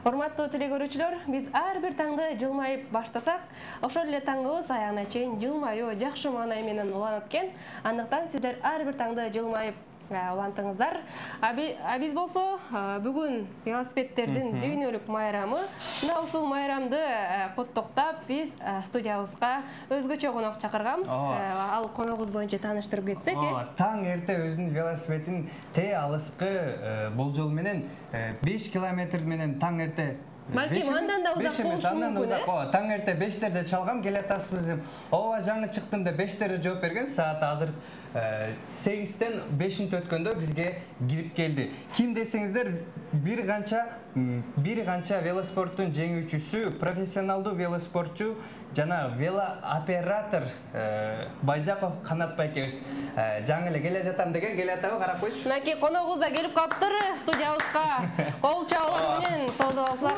Урматтуу телекөрүүчүлөр, биз ар бир таңды жылмайып баштасак, ошол эле таңыбыз аягына чейин жылмаюу жакшы маанай менен уланат экен. Андыктан сиздер ар бир таңды жылмайып улантыңыздар. Биз болсо бүгүн велосипедтердин дүйнөлүк майрамы. Мына ушул майрамды коттоктоп биз студиябызга өзгөчө конок чакырганбыз. Ал коногубуз боюнча тааныштырып кетсек. Таң эрте өзүнүн велосипедин алыскы болжол менен 5 километр менен таң эрте Балким андан да узак болушу мүмкүн. Таң эрте 5-терде чалгам, келатасыз деп. Ооба жаңы чыктым деп 5-терде жооп берген. Саат азыр 8-тен 5-инте өткөндө бизге кирип келди. Ким десеңиздер, бир канча велоспорттун жеңүүчүсү, профессионалдуу велоспортчу жана велооператор Байзаков Канат байкебиз жаңы эле келе жатам деген, келе атабы карап коючу. Мынакей коногубуз да келип калыптыр студиябызга. Кол чабуулар менен тоозоп алсак.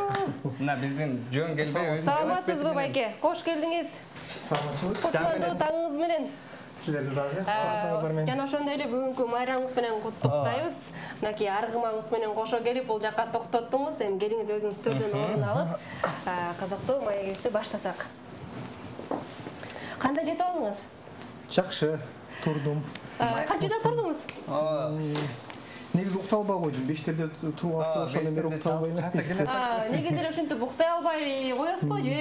Мына биздин жөн келбей Саламатсызбы байке? Кош келдиңиз. Саламатчылык. Куттуктуу таңыңыз менен. Силерди дагы саламатыңыздар менен. Жана ошондой эле бүгүнкү майрамыңыз менен куттуктайбыз. Мынакей аргымаңыз менен кошо келип бул жакка токтоттуңуз. Эми келиңиз өзүңүз төрдөн орун алып, кызыктуу маегибизди баштасак. Кандай жетип алдыңыз? Жакшы, турдум. Канчада турдуңуз? Негизи уктай албай койдум. 5-терде туруп алып, ошондон бери уктай албайм. Негизи эле ушинтип уктай албай коесузбу же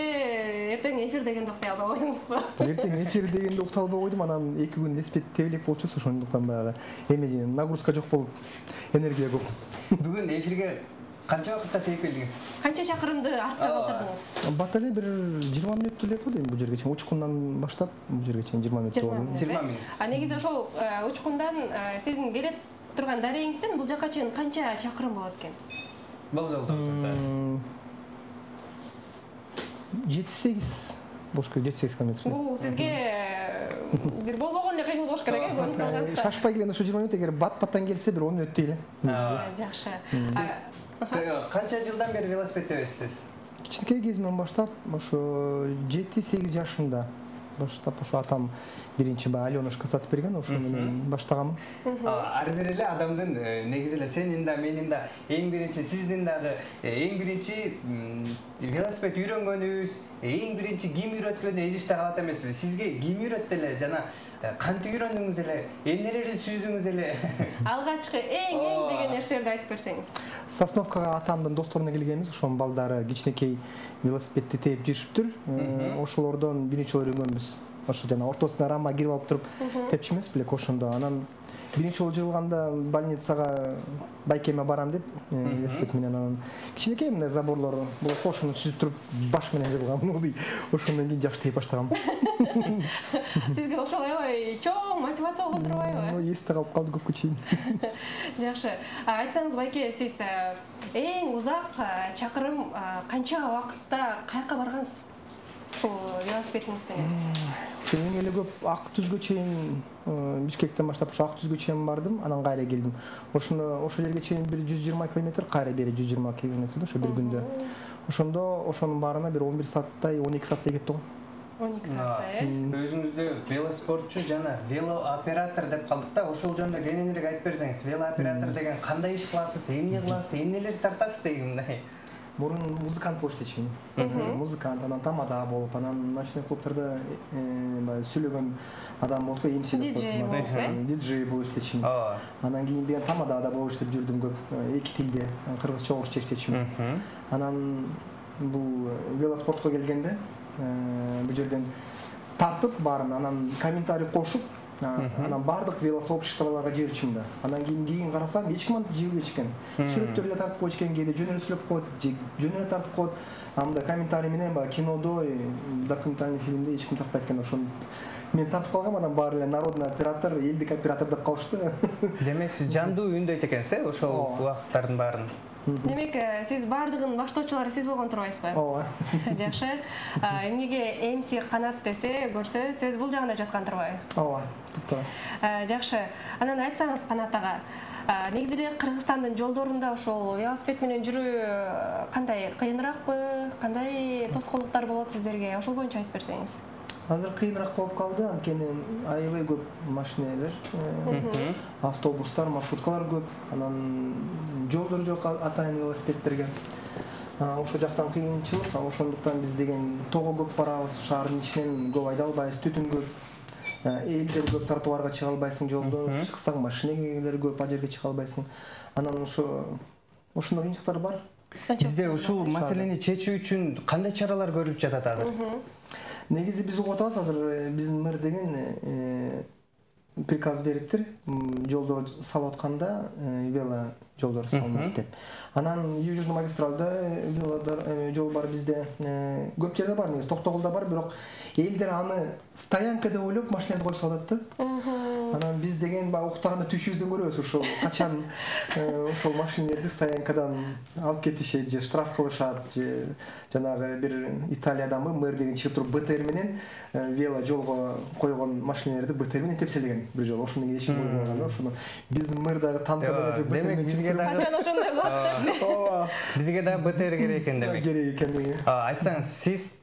эртең эфир дегенде уктай албай койдуңузбу? Эртең эфир дегенде уктай албай койдум, анан 2 күн велосипед тебелек болчу, ошондуктан баягы эми нагрузка жок болуп, энергия көп. Бүгүн эфирге канча вакытта тээп келдиңиз? Канча чакырымды артта калтырдыңыз? Бат эле бир 20 мүнөт эле кылды эми бул жерге чейин. Учкундан баштап бул жерге чейин 20 мүнөт болду. 20 мүнөт. Негизи ошол учкундан сиздин келе турган дарегиңизден бул жака чейин канча чакырым болот экен? Бул жолдо 7-8 болуш керек, 7-8 километр. Бул сизге бир болбогон эле кыймыл болуш керек э? Шашпай келген ошо 20 мүнөт, эгер бат-баттан келсе бир 10 мүнөт дейли. Жакшы. Канча жылдан бери велосипед тебесиз? Кичинекей кезимден баштап, ошо 7-8 жашымда баштап, ошо атам биринчи Алёнушка сатып берген, ошо менен баштаганмын. Ар бир эле адамдын негизи эле сенин да, менин да, эң биринчи сиздин дагы эң биринчи велосипед үйрөнгөнүбүз, эң биринчи ким үйрөткөнү эсибизде калат эмеспи? Сизге ким үйрөттү эле жана кантип үйрөндүңүз эле, эмнелерди сүздүңүз эле? Алгачкы эң деген нерселерди айтып берсеңиз. Сосновкага атамдын досторуна келгенбиз, ошонун балдары кичинекей велосипедди тээп жүрүшүптүр. Ошолордон биринчи үйрөнгөнбүз. Ошо жана ортосуна рама кирип алып туруп тепчү эмес белек ошондо. Анан биринчи жолу жыгылганда больницага байкеме барам деп велосипед менен, анан кичинекей мындай заборлор бул кошуну сүзүп туруп баш менен жыгылган. Ошондон кийин жакшы тейп баштагам. Сизге ошол аябай чоң мотивация болгон турбайбы? Эсте калып калды көпкө чейин. Жакшы. Айтсаңыз байке, сиз эң узак чакырым канча убакытта каяка баргансыз? Ошол велосипедиңиз менен. Эң эле көп Ак Түзгө чейин, Бишкектен баштап ошо Ак Түзгө чейин бардым, анан кайра келдим. Ошо жерге чейин бир 120 км, кайра бери 120 км ошо бир күндө. Ошондо ошонун баарына бир 11 сааттай, 12 сааттай кетти го. 12 сааттай, Өзүңүздү велоспортчу жана велооператор деп калдык да, ошол жөнүндө кененирээк айтып берсеңиз. Велооператор деген кандай иш кыласыз, эмне кыласыз, эмнелерди тартасыз дегендей. Мурун музыкант болуп иштечүмүн. Музыкант, анан тамада болуп, анан ночной клубтарда сүйлөгөн адам болуп, MC деп коет. Диджей болуп иштечүмүн. Анан кийин деген тамадада болуп иштеп жүрдүм көп, 2 тилде, кыргызча, орусча иштечүмүн. Анан бул велоспортко келгенде бул жерден тартып баарын, анан комментарий кошуп, анан бардык велосообществолорго жиберчүмүн да. Анан кийин карасам, эч ким жибербейт экен. Сүрөттөр эле тартып койчу экен, кээде жөн эле сүйлөп коет, жөн эле тартып коет. Анда комментарий менен баягы кинодо, документальный фильмде эч ким тартпайт экен. Ошону мен тартып калгам, анан баары эле народный оператор, элдик оператор деп калышты. Демек сиз жандуу үндөйт экенсиз, ошол убакыттардын баарын. Демек, сиз бардыгын баштоочулары сиз болгон турбайсызбы? Ооба. Жакшы. Эмнеге MC Канат десе, көрсө, сөз бул жагында жаткан турбайбы? Ооба, топтоо. Жакшы. Анан айтсаңыз Канат ага, негизи эле Кыргызстандын жолдорунда ошол велосипед менен жүрүү кандай кыйыныракпы? Кандай тоскоолдуктар болот сиздерге? Ошол боюнча айтып берсеңиз. Азыр кыйыныраак болуп калды, анткени аябай көп машиналар, автобустар, маршруткалар көп, анан жолдор жок атайын велосипедтерге. ошол жактан кыйынчылык, ошондуктан биз деген тоого көп барабыз, шаардын ичинен көп айда албайбыз, түтүн көп. Элдер көп тротуарга чыга албайсың, жолдо чыксаң машинелер көп, ал жерге чыга албайсың. Анан ошондой кыйынчылыктар бар. Бизде ушул маселени чечүү үчүн кандай чаралар көрүлүп жатат азыр? Негизи биз угуп атабыз азыр, биздин мэр деген приказ бериптир, жолдор салып атканда вело жолдор салынат деп. Анан Южный магистралда вело жол бар бизде. Көп жерде бар, негизи Токтогулда бар, бирок элдер аны стоянка деп ойлоп машиналарды коюп салат да. Анан биз деген баягы уктаганда түшүбүздөн көрөбүз, ошол качан ошол машиналарды стоянкадан алып кетишет же штраф кылышат, же жанагы бир Италияданбы мэр деген чыгып туруп БТР менен вело жолго койгон машиналарды БТР менен тепселеген бир жолу. Ошондон кийин эч ким койгон да, ошону биздин мэрдагы танкадан БТР менен чыгып качан ошондой кылат. Ооба. Бизге да БТР керек экен демек. Керек экен. Айтсаңыз, сиз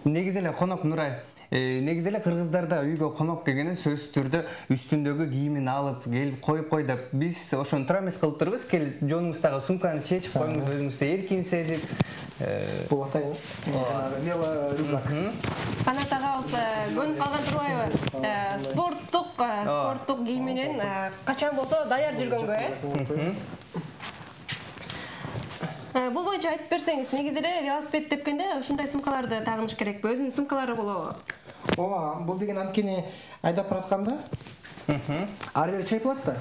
негизи эле конок Нурай, негизи эле кыргыздарда үйгө конок келгенде сөзсүз түрдө үстүндөгү кийимин алып келип коюп кой деп биз ошону туура эмес кылып турбуз. Келип жонуңуздагы сумканы чечип коюңуз, өзүңүздү эркин сезип. Бул атайын вело рюкзак. Канат агабыз көнүп калган турбайбы? Спорттук кийим менен качан болсо даяр жүргөнгө, Бул боюнча айтып берсеңиз, негизи эле велосипед тепкенде ушундай сумкаларды тагыныш керекпи? Өзүнүн сумкалары болобу? Ооба, бул деген анткени айдап баратканда ары бери чайпалат да.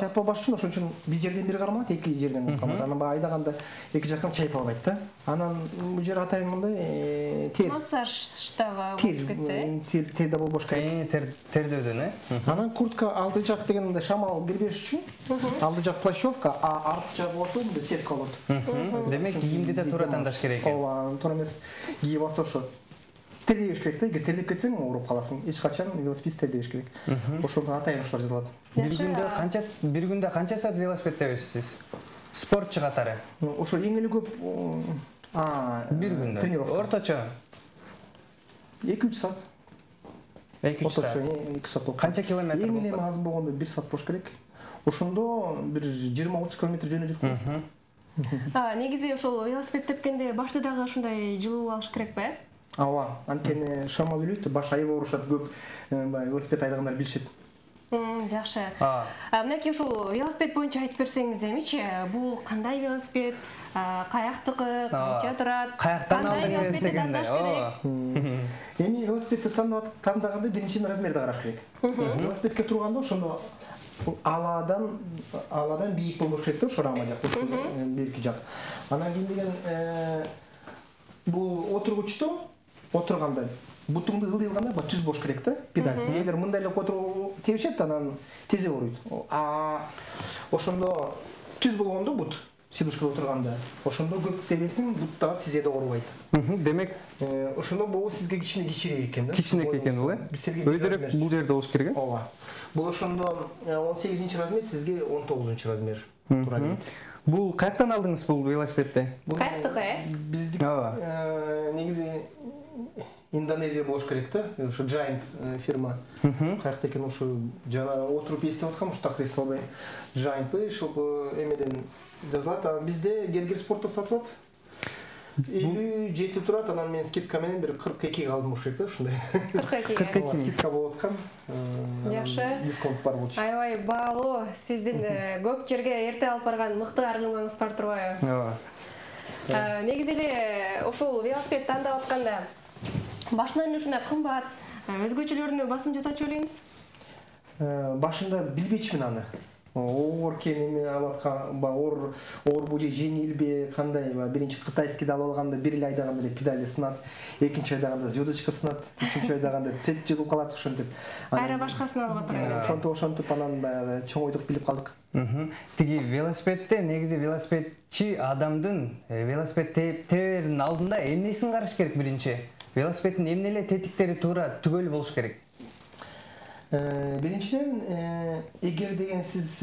Чайпалбаш үчүн ошон үчүн бир жерден бир кармалат, эки жерден кармалат. Анан баягы айдаганда эки жактан чайпалбайт да. Анан бул жер атайын мындай тер. Массаждагы болуп кетсе. Терде болбош керек. Тердөөдөн, Анан куртка алды жак деген мындай шамал кирбеш үчүн алды жак плащевка, а арт жагы болсо мындай сетка болот. Демек кийимди да туура тандаш керек экен. Ооба, туура эмес кийип алса ошо тердебеш керек да. Эгер тердеп кетсең, ооруп каласың. Эч качан велосипед тердебеш керек. Ошондон атайын ушулар жазылат. Бир күндө канча саат велосипед тебесиз? Спортчу катары. Ошо эң эле көп бир күндө. Тренировка. Орточо 2-3 саат. 2-3 саат. Орточо 2 саат болот. Канча километр болот? Эң эле аз болгондо 1 саат болуш керек. Ошондо бир 20-30 километр жөнү жүрүп коебуз. Негизи ошол велосипед тепкенде башты дагы ушундай жылуу алыш керекпи? Ооба, анткени шамал үлөйт, баш айып оорушат, көп велосипед айдагандар билишет. Жакшы. Мынакей ушул велосипед боюнча айтып берсеңиз эмичи, бул кандай велосипед, каяктыкы, канча турат, каяктан алдыңыз дегенде. Эми велосипедти тандаганда биринчиден размерди караш керек. Велосипедке турганда ошондо аладан бийик болбош керек да, ошо рама жак, бирки жак. Анан кийин деген бул отургучту отурганда бутуңду ылдый кылганда түз болуш керек да, педаль. Эгер мындай эле отуруп тебишет, анан тезе ооруйт. Ошондо түз болгондо бут сидушкада отурганда, ошондо көп тебесиң, бут дагы тизеде оорубайт. Демек, ошондо бул сизге кичинекей экен да. Кичинекей экен бул, өйдөрөк бул жерде болуш керек. Ооба. Бул ошондо 18-чи размер, сизге 19-чу размер туура келет. Бул каяктан алдыңыз бул велосипедди? Каяктыкы, Биздик негизи Индонезия болуш керек да, ошо Giant фирма. Каякта экен ошо жана отуруп эстеп аткам, ушта креслобой Giant ошол эмеден жазылат. Бизде Гергер спортто сатылат. 57 турат, анан мен скидка менен бир 42 алдым болуш керек да, ушундай. 42 скидка болуп аткан. Жакшы. Дисконт бар болчу. Аябай баалуу, сиздин көп жерге эрте алып барган мыкты аргымаңыз бар турбайбы? Ооба. Негизи эле ушул велосипед тандап атканда башынан ушундай кымбат, өзгөчөлөрүнө басым жасачу белеңиз? Башында билбечимин аны. Оор экенин алып аткан, оорбу же жеңилби, кандай, биринчи кытайскийди алып алганда бир эле айдаганда эле педали сынат, экинчи айдаганда звездочка сынат, үчүнчү айдаганда цепь жыгылып калат, ошентип. Айра башкасын алып атырат. Ошентип анан баягы чоңойдук билип калдык. Тиги велосипедте негизи велосипедчи адамдын велосипед тебердин алдында эмнесин караш керек биринчи? Велосипеддин эмне эле тетиктери туура түгөл болуш керек? Биринчиден, эгер деген сиз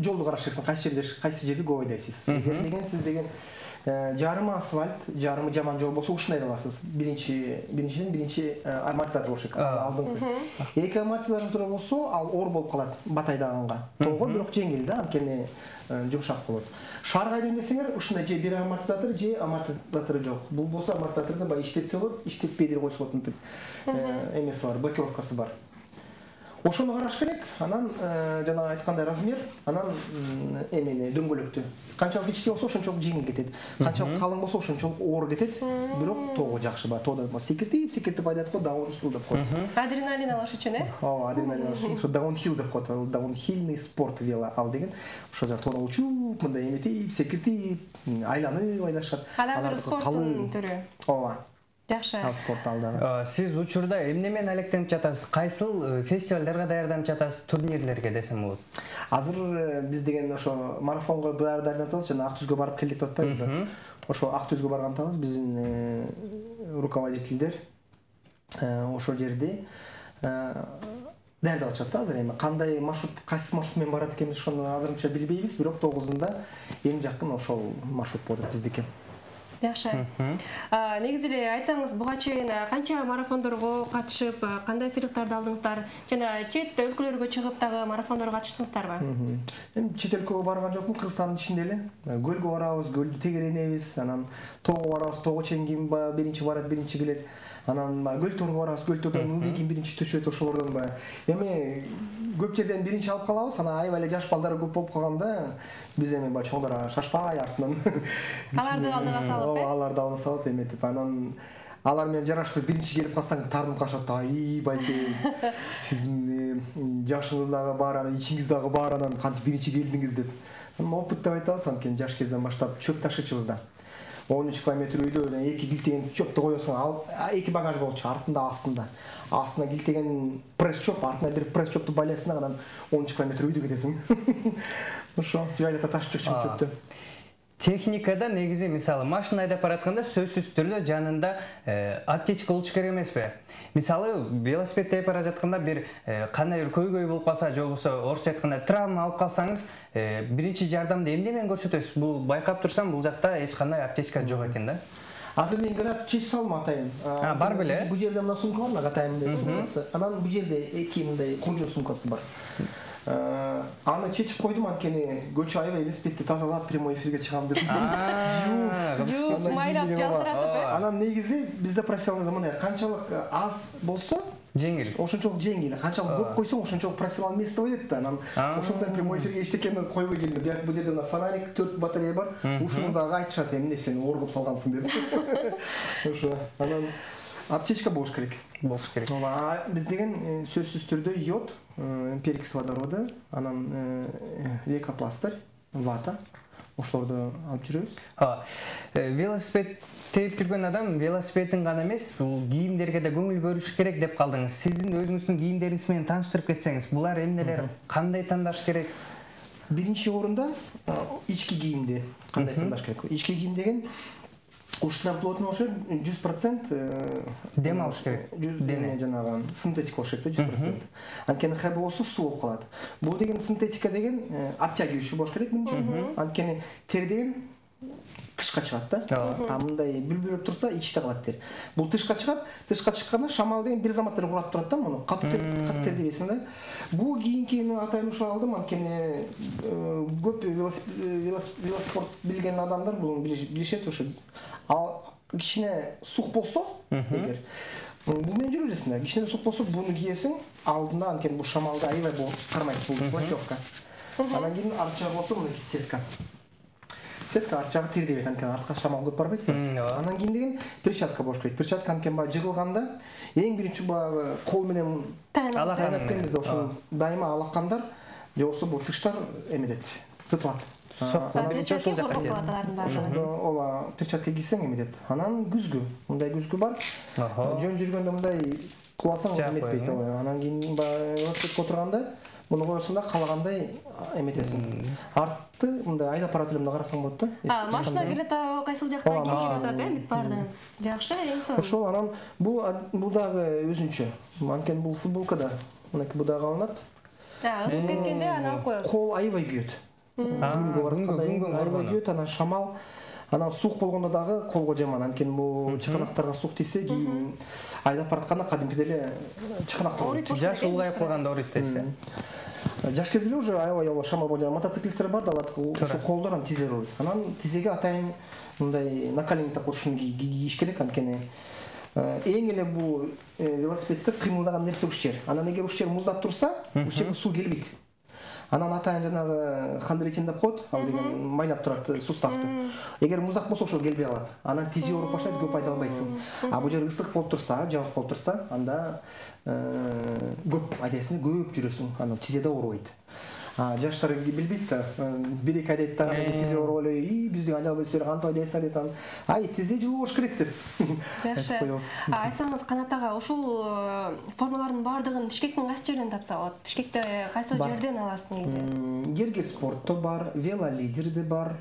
жолду караш керексиз, кайсы жерде көп айдайсыз. Эгер деген сиз деген жарымы асфальт, жарымы жаман жол болсо ушундай аласыз. Биринчи амортизатор болуш керек. Алдыңкы. Эки амортизатор туру болсо, ал оор болуп калат батайдаганга. Тогу бирок жеңил да, анткени жумшак болот. Шарга демесеңер, ушундай же бир амортизатор, же амортизатору жок. Бул болсо амортизаторду бай иштетсе болот, иштетпей деле койсо болот мынтип. Эмеси бар, блокировкасы бар. Ошону караш керек. Анан жана айткандай размер, анан эмени дөңгөлөктү. Канчалык кичине болсо ошончолук жеңил кетет. Канчалык калың болсо ошончолук оор кетет. Бирок тогу жакшы ба. Тоодо секиртип айдат го, даунхилл деп коет. Адреналин алыш үчүн, Ооба, адреналин алыш үчүн. Ошо даунхилл деп коет. Даунхиллный спорт вело ал деген. Ошо жак тоодо учуп, мындай эметип, секиртип, айланып айдашат. Алар спорттун түрү. Ооба. Жакшы. Ал спорт алдагы. Сиз учурда эмне менен алектенип жатасыз? Кайсыл фестивалдарга даярданып жатасыз, турнирлерге десем болот? Азыр биз деген ошо марафонго даярданып атабыз, жана Актүзгө барып келдик деп атпайбызбы? Ошо Актүзгө баргандабыз, биздин руководителдер ошол жерде даярдап атышат да азыр. Эми кандай маршрут, кайсы маршрут менен барат экенбиз ошону азырынча билбейбиз, бирок 9-ында эң жакын ошол маршрут болот биздики. Жакшы. Негизи эле айтсаңыз, буга чейин канча марафондорго катышып, кандай сыйлыктарды алдыңыздар? Жана чет өлкөлөргө чыгып дагы марафондорго катыштыңыздарбы? Эми чет өлкөгө барган жокмун, Кыргызстандын ичинде эле. Көлгө барабыз, көлдү тегеренебиз, анан тоого барабыз, тоого чейин ким биринчи барат, биринчи келет. Анан көл тоорго барабыз, көл тоордон ылдый ким биринчи түшөт, ошолордон эми көп жерден биринчи алып калабыз, анан аябай эле жаш балдар көп болуп калганда биз эми чоңдор шашпай артынан аларды алдыга салып, аларды алдыга салып эметип, анан алар менен жараштуу биринчи келип калсаң тартынып калышат. Ай байке, сиздин жашыңыз дагы бар, анан ичиңиз дагы бар, анан кантип биринчи келдиңиз деп. Опыт деп айтабыз, анткени жаш кезден баштап чөп ташычыбыз да. 13 километр үйдө 2 килтеген чөптү коесуң, ал 2 багаж болчу, артында астында. Астына килтеген пресс чөп, артына бир пресс чөптү байлайсың, анан 13 километр үйдө кетесиң. Ошо жайлата ташып чыкчу чөптү. Техникада негизи мисалы машина айдап баратканда сөзсүз түрдө жанында аптечка болуш керек эмеспи? Мисалы велосипед тээп бара жатканда бир кандай бир көйгөй болуп калса, же болбосо орусча айтканда травма алып калсаңыз, биринчи жардамды эмне менен көрсөтөсүз? Бул байкап турсам, бул жакта эч кандай аптечка жок экен да. Азыр мен гранат чечип салдым атайын. Бар беле? Бул жерде мына сумка бар, атайын деп сумкасы. Анан бул жерде эки мындай куржу сумкасы бар. Аны чечип койдум, анткени көчө аябай велосипедди тазалап прямой эфирге чыгам деп. Жууп, майрап, жалтыратып. Анан негизи бизде профессионалда мындай канчалык аз болсо жеңил. Ошончолук жеңил. Канчалык көп койсоң, ошончолук профессионал место болот да. Анан ошондон прямой эфирге эчтекени койбой келдим. Бул жерде мына фонарик, 4 батарея бар. Ушуну дагы айтышат, эмне сен оор кылып салгансың деп. Ошо. Анан аптечка болуш керек. Болуш керек. Биз деген сөзсүз түрдө йод, перекис водороду, анан лейкопластырь, вата, ошолорду алып жүрөбүз. Велосипед тээп жүргөн адам велосипедин гана эмес, бул кийимдерге да көңүл бөлүш керек деп калдыңыз. Сиздин өзүңүздүн кийимдериңиз менен тааныштырып кетсеңиз, булар эмнелер, кандай тандаш керек? Биринчи орунда ички кийимди кандай тандаш керек? Ички кийим деген ушундан плотный болуш керек, 100% дем алыш керек. Дене жанагы синтетика болуш керек, 100%. Анткени хэбы болсо суу болуп калат. Бул деген синтетика деген обтягивающий болуш керек менимче. Анткени тери деген тышка чыгат да. Мындай бүлбүлөп турса ичте калат тер. Бул тышка чыгат, тышка чыкканда шамал деген бир заматтар урап турат да, муну катуу тер дебейсиң да. Бул кийинкени атайын ушул алдым, анткени көп велоспорт билген адамдар бул билишет, ошо кичине сук болсо, эгер бул менен жүрө бересиң да, кичине сук болсо буну кийесиң, алдында анткени бул шамалда аябай кармайт, бул плащевка. Анан кийин арт жагы болсо мына сетка. Сетка арт жагы тирдебейт, анткени артка шамал көп барбайт. Анан кийин деген перчатка болуш керек. Перчатка анткени баягы жыгылганда эң биринчи баягы кол менен таянат экенбизде, ошол дайыма алакандар же болбосо бул тыштар эметет, тытылат. Ооба, перчатка кийсең эметет. Анан күзгү, мындай күзгү бар. Жөн жүргөндө мындай кубасаң эметпейт. Анан кийин велосипедке отурганда муну коесуң да калагандай эметесиң. Артты мындай айдап барат элем карасаң болот да. Машина келет, кайсыл жактан келип жатат, эмит бардын. Жакшы, эң сонун. Ошол анан бул дагы өзүнчө. Анткени бул футболкада мынакей бул дагы алынат. Ысып кеткенде анан алып коесуз. Кол аябай күйөт. Күнгө баратканда аябай күйөт, анан шамал Анан сук болгондо дагы колго жаман. Анткени бул чыканактарга сук тийсе, кийин айдап баратканда кадимки деле чыканактар ооруйт. Жаш улгайып калганда ооруйт дейсиз. Жаш кезде уже аябай шамал болгон мотоциклисттер бар да, алар ошо колдорун тизелер ооруйт. Анан тизеге атайын мындай наколенник деп ушуну кийиш керек, анткени эң эле бул велосипедди кыймылдаган нерсе ушчер. Анан эгер ушчер муздап турса, ушчерге суу келбейт. Анан атайын жанагы хандритин деп коет, ал деген майлап турат суставды. Эгер муздак болсо ошол келбей калат. Анан тизе ооруп баштайт, көп айда албайсың. А бул жер ысык болуп турса, жабык болуп турса, анда көп айдайсың, көп жүрөсүң. Анан тизе да оорубайт. Жаштар билбейт да. Бир-эки айдайт дагы тизе ооруп эле, биздин айдап элсер кантип айдайсыңар дейт. Анан ай тизе жылуу болуш керек деп. Жакшы. Айтсаңыз Канат ага, ушул формалардын баардыгын Бишкектин кайсы жерден тапса болот? Бишкекте кайсы жерден аласыз негизи? Гергер спортто бар, велолидерде бар.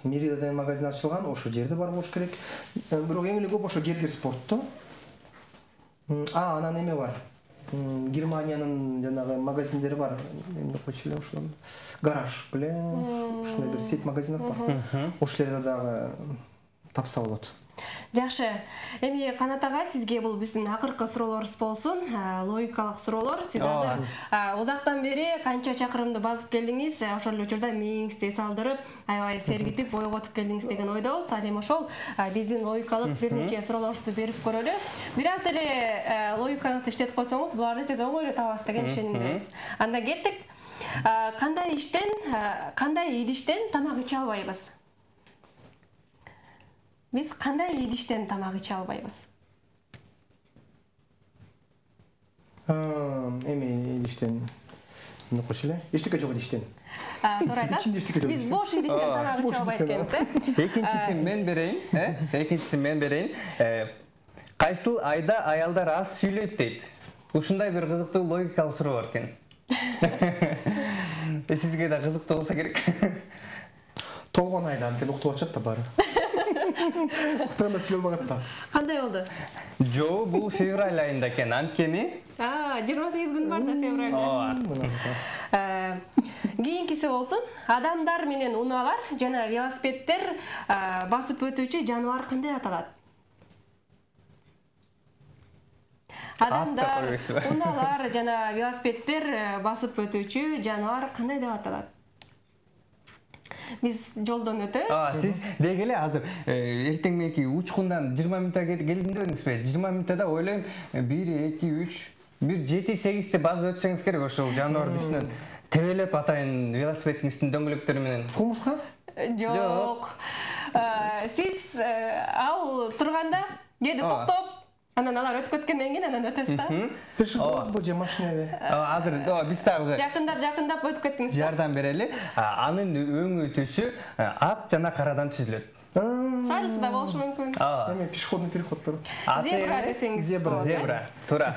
Мирида деген магазин ачылган, ошол жерде бар болуш керек. Бирок эң эле көп ошо Гергер спортто. Анан эме бар. Германиянын жанагы магазиндери бар. Эмне койчу эле ошол. Гараж беле, ушундай бир сеть магазинов бар. Ошол жерде дагы тапса болот. Жакшы. Эми Канат ага, сизге бул биздин акыркы суроолорубуз болсун. Логикалык суроолор. Сиз азыр узактан бери канча чакырымды басып келдиңиз, ошол эле учурда мээңизди салдырып, аябай сергитип, ойготуп келдиңиз деген ойдобуз. Ал эми ошол биздин логикалык бир нече суроолорубузду берип көрөлү. Бир аз эле логикаңызды иштетип койсоңуз, буларды сиз оңой эле табасыз деген ишенимдебиз. Анда кеттик. Кандай идиштен тамак иче албайбыз? Биз кандай идиштен тамак иче албайбыз? Эми идиштен эмне койчу эле? Эчтеке жок идиштен. Туура айтасыз. Биз бош идиштен тамак иче албайт экенбиз, Экинчисин мен берейин, Кайсыл айда аялдар аз сүйлөйт дейт. Ушундай бир кызыктуу логикалык суроо бар экен. Сизге да кызыктуу болсо керек. Толгон айда, анткени уктуп атышат да баары. Уктаганда сүйлөй албагат да. Кандай болду? Жоо, бул февраль айында экен, анткени 28 күн бар да февралда. Кийинкиси болсун. Адамдар менен унаалар жана велосипеддер басып өтүүчү жаныбар кандай аталат? Адамдар, унаалар жана велосипеддер басып өтүүчү жаныбар кандай деп аталат? Биз жолдон өтөбүз. Сиз дегеле азыр эртең мененки учкундан 20 мүнөттө келдим дедиңизби? 20 мүнөттө ойлойм 1, 2, 3, 7-8ти басып өтсөңүз керек ошол жаныбардын үстүнөн тебелеп атайын велосипеддин үстүнүн дөңгөлөктөрү менен. Кумуска? Жок. Сиз ал турганда кээде токтоп, анан алар өтүп кеткенден кийин анан өтөсүз да. Пешеходбу же машинеби? Азыр биз дагы жакындап өтүп кеттиңиз. Жардам берели. Анын өңү түсү ак жана карадан түзүлөт. Сарысы да болушу мүмкүн. Эми пешеходный переходдор. Зебра десеңиз. Зебра. Туура.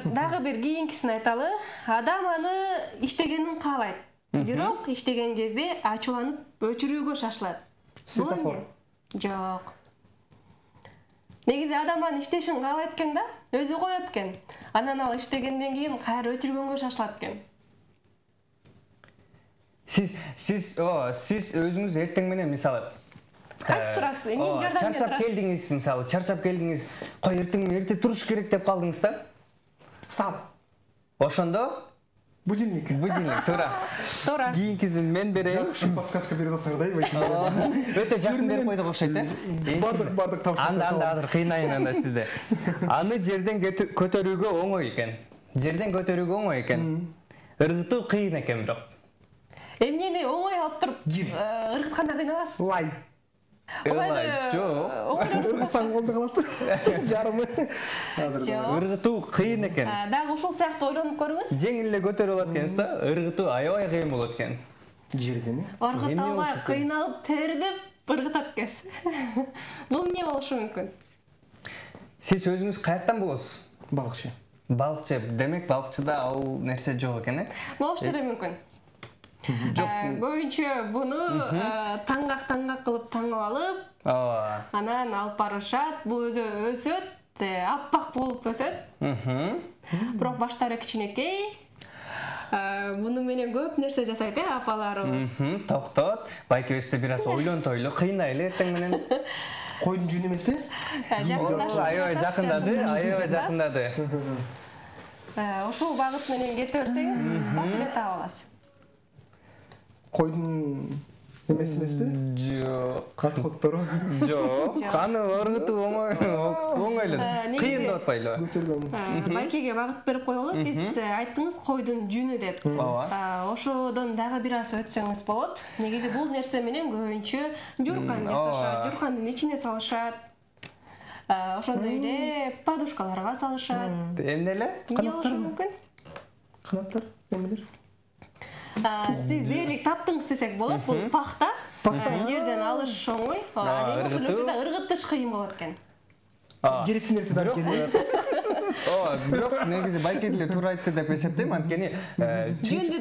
Дагы бир кийинкисин айталы. Адам аны иштегенин каалайт. Бирок иштеген кезде ачууланып өчүрүүгө шашылат. Светофор. Жок. Негизи адам аны иштешин каалайт экен да, өзү коет экен. Анан ал иштегенден кийин кайра өчүргөнгө шашылат экен. Сиз өзүңүз эртең менен мисалы кайтып турасыз, эмне жардам берип чарчап келдиңиз, мисалы, чарчап келдиңиз, кой эртең эрте туруш керек деп калдыңыз да? Саат. Ошондо будильник, туура. Кийинкисин мен берейин. Подсказка берип атсаңар да, өтө жакын берип койдук окшойт да? Бардык табыш. Анда азыр кыйнайын анда сизди. Аны жерден көтөрүүгө оңой экен. Ыргытуу кыйын экен бирок. Эмнени оңой алып туруп ыргытканда кыйналасыз? Лай. Жок. Ыргытсаң колдо калат. Жарымы. Ыргытуу кыйын экен. Дагы ушул сыяктуу ойлонуп көрүңүз. Жеңил эле көтөрүп алат экенсиз да, ыргытуу аябай кыйын болот экен. Жерден. Ыргыта албай кыйналып тердеп ыргытат экенсиз. Бул эмне болушу мүмкүн? Сиз өзүңүз каяктан болосуз? Балыкчы. Демек балыкчыда ал нерсе жок экен, Болушу мүмкүн. Көбүнчө буну таңгак кылып таңып алып, анан алып барышат. Бул өзү өсөт, аппак болуп өсөт. Бирок баштары кичинекей. Муну менен көп нерсе жасайт апаларыбыз. Токтот. Байке өстө бир аз ойлонтойлу, кыйнайлы эртең менен. Койдун жүнү эмеспи? Аябай жакындады. Ушул багыт менен кете берсеңиз, бакыт таап аласыз. Койдун эмеспи? Жок. Оттору. Жок. Каны ыргытуу оңойлу. Кыйын деп атпайлы. Байкеге багыт берип коелу. Сиз айттыңыз койдун жүнү деп. Ошодон дагы бир аз өтсөңүз болот. Негизи бул нерсе менен көбүнчө журкан жасашат, журкандын ичине салышат. Ошондой эле подушкаларга салышат. Эмне эле? Канаттар эмелер? Сиз дээрлик таптыңыз десек болот. Бул пахта. Жерден алыш оңой. Ошол жерде ыргытыш кыйын болот экен. Керектүү нерсе да экен. Бирок негизи Байке деле туура айтты деп эсептейм. Анткени жүндү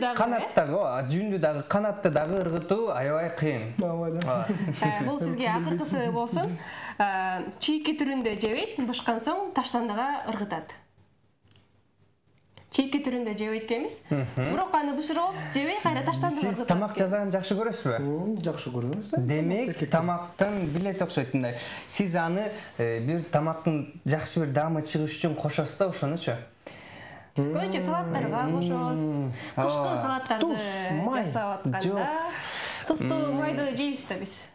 дагы канатты дагы ыргытуу аябай кыйын. Бул сизге акыркысы болсун. Чийки түрүндө жебейт, бышкан соң таштандыга ыргытат. Чийки түрүндө жебейт экенбиз. Бирок аны бышырып алып, жебей кайра таштандыга ыргытат. Сиз тамак жасаганды жакшы көрөсүзбү? Жакшы көрөмүз. Демек, тамактын билет окшойт мындай. Сиз аны бир тамактын жакшы бир даамы чыгыш үчүн кошосуз да ошонучу? Көбүнчө салаттарга кошобуз. Кышкы салаттарды жасап атканда тустуу майды жейбиз да биз.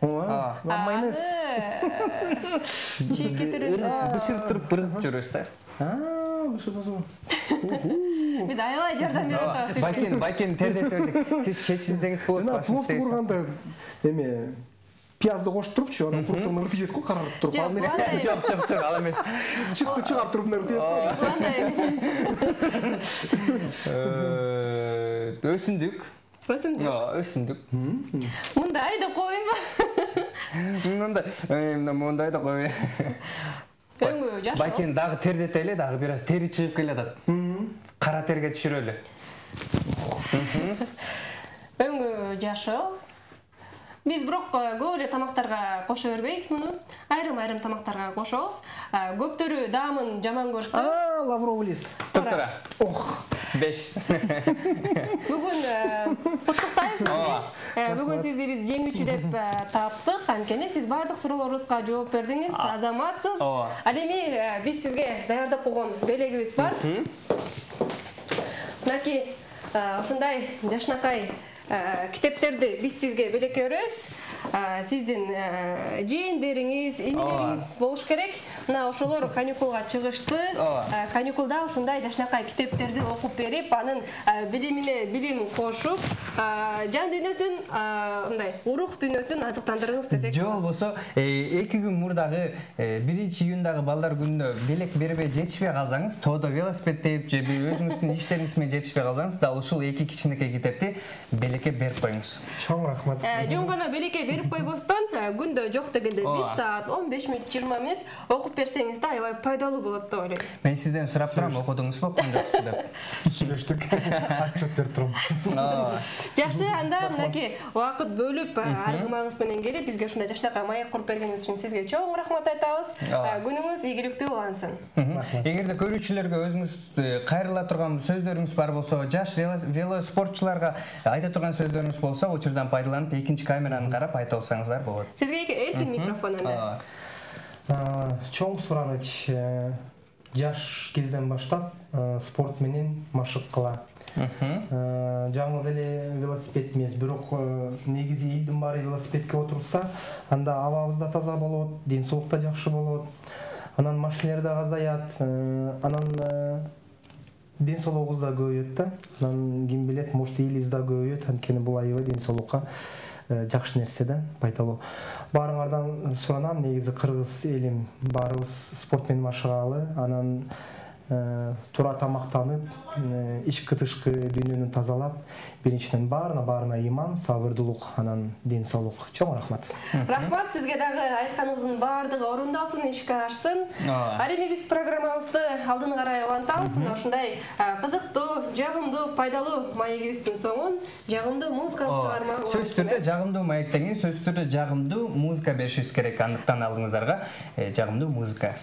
Майонез. Чийки түрүндө бышырып туруп ыргытып жүрөбүз да. Биз аябай жардам берип атабыз. Байкени тердетип бердик. Сиз чечилсеңиз болот. Жана пловду курганда эме пиязды кошуп турупчу, анан курттугун ыргытып жейт го, карарып туруп. Ал эмес. Жок, ал эмес. Чыкты чыгарып туруп ыргытып. Андай эмес. Өсүмдүк. Өсүмдүк. Мындай да койбойбу? Мындай да койбой. Өңгө жашыл. Байкени дагы тердетели, дагы бир аз тери чыгып келатат. Кара терге түшүрөлү. Өңгө жашыл. Биз бирок көп эле тамактарга кошо бербейбиз муну. Айрым тамактарга кошобуз. Көптөрү даамын жаман көрсө. Лавровый лист. Туктура. 5. Бүгүн куттуктайбыз. Бүгүн сизди биз жеңүүчү деп таптык. Анткени сиз бардык суроолорубузга жооп бердиңиз. Азаматсыз. Ал эми биз сизге даярдап койгон белегибиз бар. Мынакей ушундай жашнакай китептерди биз сизге белекке беребиз. Сиздин жээндериңиз, инелериңиз болуш керек. Мына ошолор каникулга чыгышты. Каникулда ушундай жашнакай китептерди окуп берип, анын билимине билим кошуп, жан дүйнөсүн, мындай урук дүйнөсүн азыктандырыңыз десек. Же болбосо 2 күн мурдагы 1-июндагы балдар күнүнө белек бербей жетишпей калсаңыз, тоодо велосипед тээп же өзүңүздүн иштериңиз менен жетишпей калсаңыз, дал ушул 2 кичинекей китепти белекке берип коюңуз. Чоң рахмат. Жөн гана белекке берип койбостон, күндө жок дегенде 1 саат 15 мүнөт 20 мүнөт окуп берсеңиз да аябай пайдалуу болот деп ойлойм. Мен сизден сурап турам, окудуңузбу, окудуңузбу деп. Сүйлөштүк. Отчет берип турам. Жакшы, анда мынакей убакыт бөлүп, аргымагыңыз менен келип, бизге ушундай жашнакай маек куруп бергениңиз үчүн сизге чоң рахмат айтабыз. Күнүңүз ийгиликтүү улансын. Эгерде көрүүчүлөргө өзүңүз кайрыла турган сөздөрүңүз бар болсо, жаш велоспортчуларга айта турган сөздөрүңүз болсо, учурдан пайдаланып, экинчи камераны карап айта алсаңыздар болот. Сизге эркин микрофон анда. Чоң сураныч жаш кезден баштап спорт менен машык кыла. Жаңы эле велосипед эмес, бирок негизи элдин баары велосипедке отурса, анда абабыз да таза болот, ден соолук да жакшы болот. Анан машинелер да азаят, анан ден соолугубуз да көбөйөт да. Анан ким билет, может элибиз да көбөйөт, анткени бул аябай ден соолукка жакшы нерсе да, пайдалуу. Баарыңардан суранам, негизи кыргыз элим баарыбыз спорт менен машыгалы, анан туура тамактанып, ички-тышкы дүйнөнү тазалап, биринчиден баарына ыйман, сабырдуулук, анан ден соолук. Чоң рахмат. Рахмат, сизге дагы айтканыңыздын баардыгы орундалсын, ишке ашсын. Ал эми биз программабызды алдын карай улантабыз. Ушундай кызыктуу, жагымдуу, пайдалуу маегибиздин соңун жагымдуу музыкалык чыгарма. Сөзсүз түрдө жагымдуу маектен кийин сөзсүз түрдө жагымдуу музыка беришибиз керек. Андыктан алдыңыздарга жагымдуу музыка.